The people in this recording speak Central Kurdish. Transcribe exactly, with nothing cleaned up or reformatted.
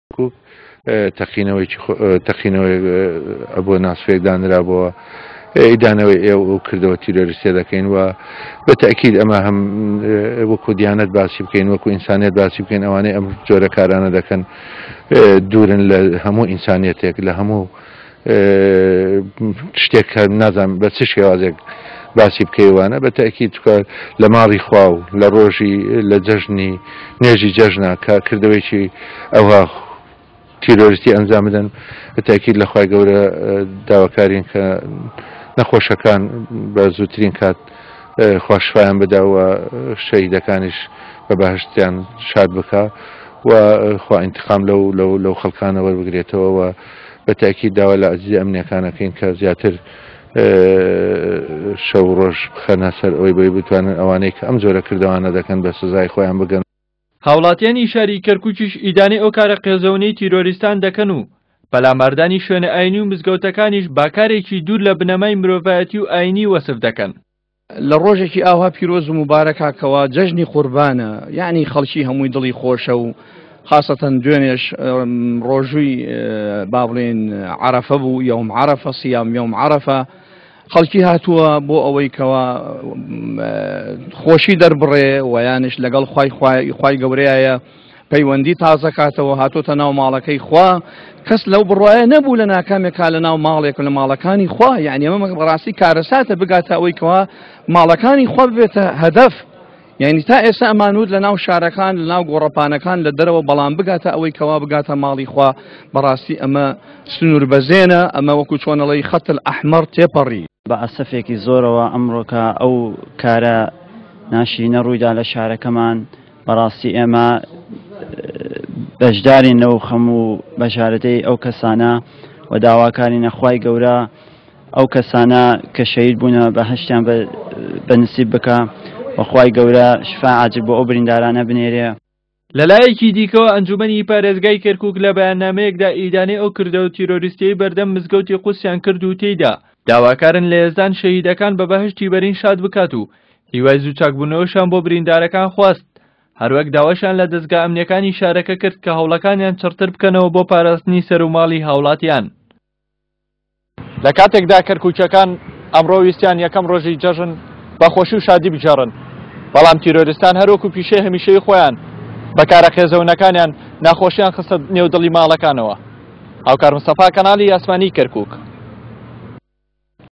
کەرکوک تەقینەوەیەکی تەقینەوەی ئەبوو ناسفێک دانرابەوە ئیدانەوەی ئێوە و کردەوە تیرۆریستیە دەکەین و بە تەئکید ئەمە هەم وەکو دیانەت باسی بکەین، وەکو ئینسانیەت باسی بکەین. ئەوانەی ئەم جۆرە کارانە دەکەن دوورن لە هەموو ئینسانیەتێک، لە هەموو شتێک کە نازانم بە چ شێوازێک باسی بکەیوانە. بە تەئکید چکە لە ماڵی خوا و لە ڕۆژی لە جەژنی نوێژی جەژنە کە کردەوەیکی ئەوها تیرۆریستی ئەنجام بدەن، بە تەئکید لە خوای گەورە داواکارین کە نەخۆشەکان بە زووترین کات خوا شفایان بدا و شەهیدەکانیش بە بەهەشتیان شاد بکا و خوا ئینتقام لەو لەو لەو خەڵکانە وەربگرێتەوە. و بە تەئکید داوا لە عەزیزی ئەمنیەکانەکەین کە زیاتر شەو ڕۆژ بخەنە سەر ئەوەی بۆی بتوانن ئەوانەی کە ئەم جۆرە کردەوانە دەکەن بە سزای خۆیان بگەن. هاوڵاتیانی شاری کەرکووکیش ئیدانەی ئەو کارە قێزەونەی تیرۆریستان دەکەن و پەلاماردانی شوێنە ئاینی و مزگەوتەکانیش باکارێکی دوور لە بنەمای مرۆڤایەتی و ئاینی وەسف دەکەن. لە ڕۆژێکی ئاوا پیرۆز و موبارەکە کەوا جەژنی قوربانە، یعنی خەڵکی هەمووی دڵی خۆشە و خاصەتەن دوێنێش ڕۆژووی با بڵێن عەرەفە بوو، یوم عەرەفە، صیام یوم عەرەفە، خەڵکی هاتووە بۆ ئەوەی کەوا خۆشی دەربڕێ و یانش لەگەڵ خوای خوای گەورەیە پەیوەندی تازە کاتەوە، هاتۆتە ناو ماڵەکەی خوا. کەس لەو بڕوایە نەبوو لە ناکامێکا لە ناو ماڵێک لە ماڵەکانی خوا، یعنی ئەمە بەڕاستی کارەساتە بگاتە ئەوەی کەوا ماڵەکانی خوا ببێتە هەدەف. یعنی تا ئێستا ئەمانوت لە ناو شارەکان، لە ناو گۆڕەپانەکان لە دەرەوە، بەڵام بگاتە ئەوەی کەوا بگاتە ماڵی خوا، بەڕاستی ئەمە سنوور بەزێنە، ئەمە وەکو چۆنەڵی خەت الئەحمەر تێپەڕی. بە ئەسەفێکی زۆرەوە ئەمڕۆکە ئەو کارە ناشرینە ڕوویدا لە شارەکەمان. بەڕاستی ئێمە بەشدارین لەو خەم و بەشارەتەی ئەو کەسانە و داواکارینە خوای گەورە ئەو کەسانە کە شەهید بوونە بەهەشتیان بە نسیب بکە و خوای گەورە شفا عاجل بۆ ئەو بریندارانە بنێرێ. لەلایەکی دیکەوە ئەنجومەنی پارێزگای کەرکوک لە بەیاننامەیەکدا ئیدانەی ئەو کردەوە تیرۆریستیەی بەردەم مزگەوتی قودسیان کرد و تێیدا داواکارن لە یەزدان شەهیدەکان بە بەهەشتی بەرین شاد بکات و هیوای زوو چاکبوونەوەشیان بۆ بریندارەکان خواست. هەروەک داواشیان لە دەزگا ئەمنیەکانی شارەکە کرد کە هەوڵەکانیان چڕتر بکەنەوە بۆ پاراستنی سەر و ماڵی هاوڵاتیان. لە کاتێکدا کەرکووکیەکان ئەمڕۆ ویستیان یەکەم ڕۆژی جەژن بە خۆشی و شادی بگێڕن، بەڵام تیرۆریستان هەروەکو پیشەی هەمیشەی خۆیان بە کارە قێزەونەکانیان ناخۆشیان خستە نێو دڵی ماڵەکانەوە. هاوکار مستەفا، کەناڵی ئاسمانی کەرکووک.